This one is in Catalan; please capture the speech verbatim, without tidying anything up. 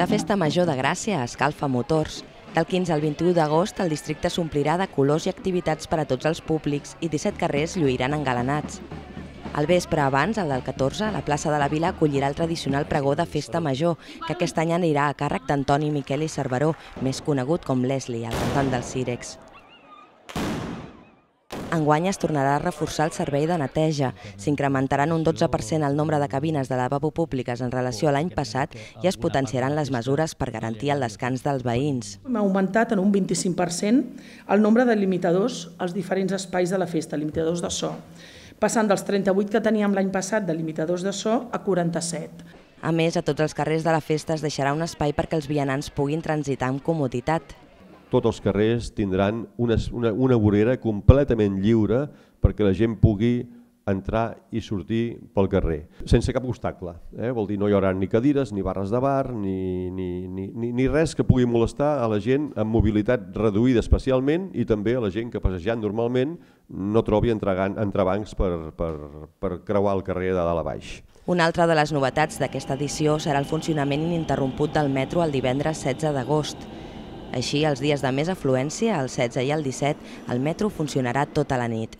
La Festa Major de Gràcia escalfa motors. Del quinze al vint-i-u d'agost el districte s'omplirà de colors i activitats per a tots els públics i disset carrers lluiran engalanats. Al vespre abans, el del catorze, la plaça de la Vila acollirà el tradicional pregó de Festa Major, que aquest any anirà a càrrec d'Antoni Miquel i Cerveró, més conegut com Leslie, el cantant dels Sírex. Enguany es tornarà a reforçar el servei de neteja. S'incrementaran un dotze per cent el nombre de cabines de lavabo públiques en relació a l'any passat i es potenciaran les mesures per garantir el descans dels veïns. Hem augmentat en un vint-i-cinc per cent el nombre de limitadors als diferents espais de la festa, limitadors de so, passant dels trenta-vuit que teníem l'any passat de limitadors de so a quaranta-set. A més, a tots els carrers de la festa es deixarà un espai perquè els vianants puguin transitar amb comoditat. Tots els carrers tindran una, una, una vorera completament lliure perquè la gent pugui entrar i sortir pel carrer, sense cap obstacle. Eh? Vol dir, no hi haurà ni cadires, ni barres de bar, ni, ni, ni, ni res que pugui molestar a la gent amb mobilitat reduïda especialment i també a la gent que passejant normalment no trobi entrebancs per, per, per creuar el carrer de dalt a baix. Una altra de les novetats d'aquesta edició serà el funcionament ininterromput del metro el divendres setze d'agost. Així, els dies de més afluència, el setze i el disset, el metro funcionarà tota la nit.